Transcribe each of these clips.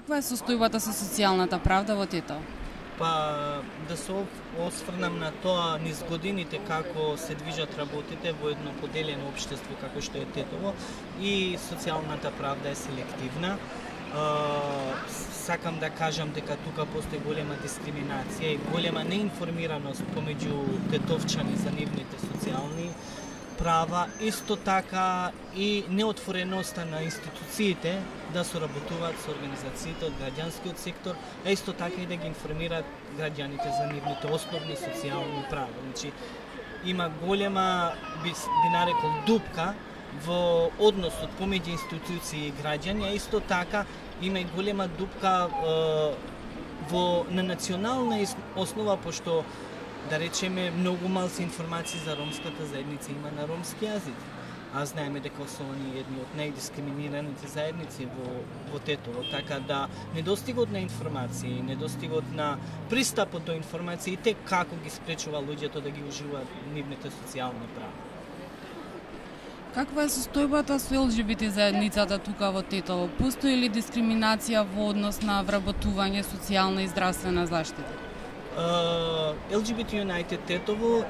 Каква е состојбата со социјалната правда во Тетово? Па да се осврнам на тоа низ годините како се движат работите во едно поделено општество како што е Тетово и социјалната правда е селективна. Сакам да кажам дека тука постои голема дискриминација и голема неинформираност помеѓу тетовчани за нивните социјални права, исто така и неотвореноста на институциите да соработуваат со организациите од граѓанскиот сектор, а исто така и да ги информираат граѓаните за нивните основни социјални права. Значи, има голема, би нарекол, дупка во односот помеѓу институции и граѓани, а исто така има и голема дупка на национална основа, пошто да речеме многу малку информации за ромската заедница има на ромски јазик. А знаеме дека се они едни од најдискриминираните заедници во Тетово, така да недостигот на информации, недостигот на пристапот до информациите како ги спречува луѓето да ги уживаат нивните социјални права. Каква е состојбата со ЛГБТ заедницата тука во Тетово? Постои ли дискриминација во однос на вработување социјална и здравствена заштита? LGBT United Тетово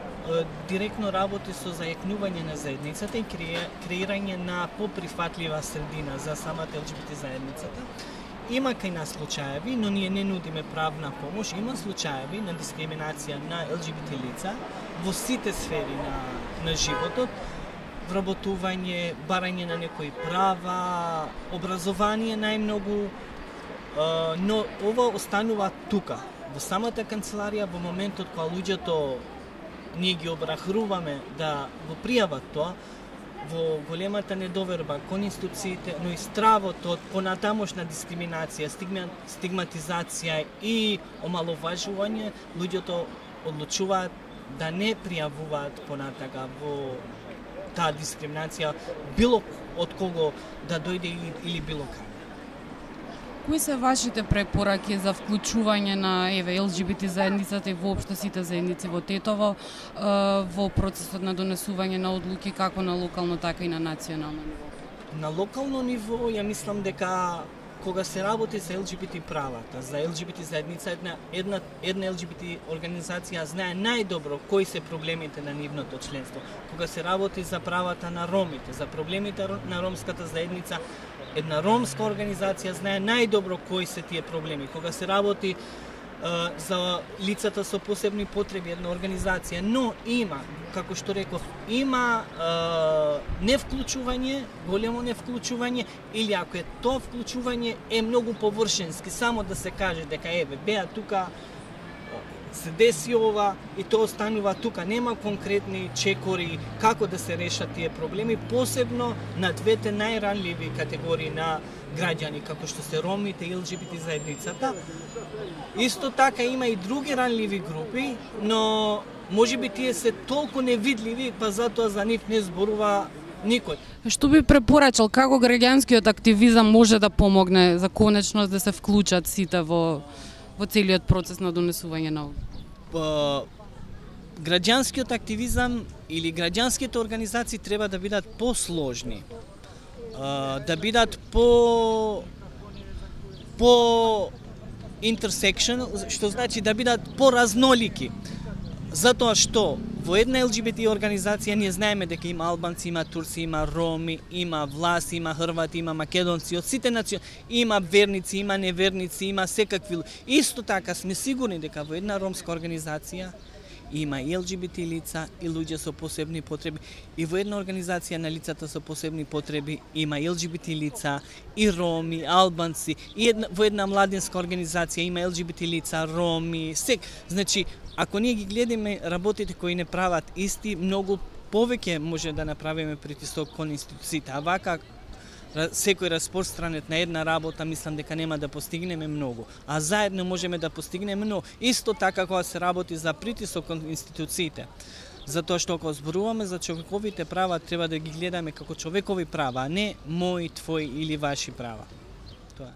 директно работи со зајакнување на заедницата и креирање на поприфатлива средина за самата LGBT заедницата. Има кај нас случаеви, но ние не нудиме правна помош, има случаеви на дискриминација на LGBT лица во сите сфери на животот, вработување, барање на некои права, образование најмногу, но ова останува тука. Во самата канцеларија, во моментот кога луѓето ние ги обрахруваме да го пријават тоа, во големата недоверба кон институциите, но и стравот од понатамошна дискриминација, стигматизација и омаловажување, луѓето одлучуваат да не пријавуваат понатака во таа дискриминација било од кого да дојде или било кај. Кои се вашите препораки за вклучување на ЛГБТ заедницата и воопшто сите заедници во Тетово во процесот на донесување на одлуки како на локално, така и на национално ниво? На локално ниво, ја мислам дека кога се работи за ЛГБТ правата, за ЛГБТ заедница, една ЛГБТ организација знае најдобро кои се проблемите на нивното членство. Кога се работи за правата на ромите, за проблемите на ромската заедница, една ромска организација знае најдобро кои се тие проблеми. Кога се работи за лицата со посебни потреби, една организација, но има, како што реков, има невклучување, големо невклучување, или ако е тоа вклучување е многу површенски, само да се каже дека беа тука, се деси ова и тоа останува тука. Нема конкретни чекори како да се решат тие проблеми, посебно на двете најранливи категории на граѓани, како што се ромите и ЛГБТ заедницата. Исто така има и други ранливи групи, но можеби тие се толку невидливи, па затоа за нив не зборува никој. Што би препорачал, како граѓанскиот активизам може да помогне за конечност да се вклучат сите во целиот процес на донесување на граѓанскиот активизам или граѓанските организации треба да бидат посложни, да бидат по интерсекшн, што значи да бидат поразнолики. Затоа што во една ЛГБТ организација ние знаеме дека има албанци, има турци, има роми, има власи, има хрвати, има македонци, од сите национи, има верници, има неверници, има секакви. Исто така сме сигурни дека во една ромска организација има и ЛГБТ лица и луѓе со посебни потреби, и во една организација на лицата со посебни потреби има и ЛГБТ лица, и роми, албанци, и во една младинска организација има ЛГБТ лица, роми, Значи, ако ние ги гледаме работите кои не прават исти, многу повеќе може да направиме притисок кон институциите. А вака секој распространет на една работа, мислам дека нема да постигнеме многу. А заедно можеме да постигнеме многу. Исто така кога се работи за притисок кон институциите. Затоа што ако зборуваме за човековите права, треба да ги гледаме како човекови права, а не мои, твои или ваши права. Тоа.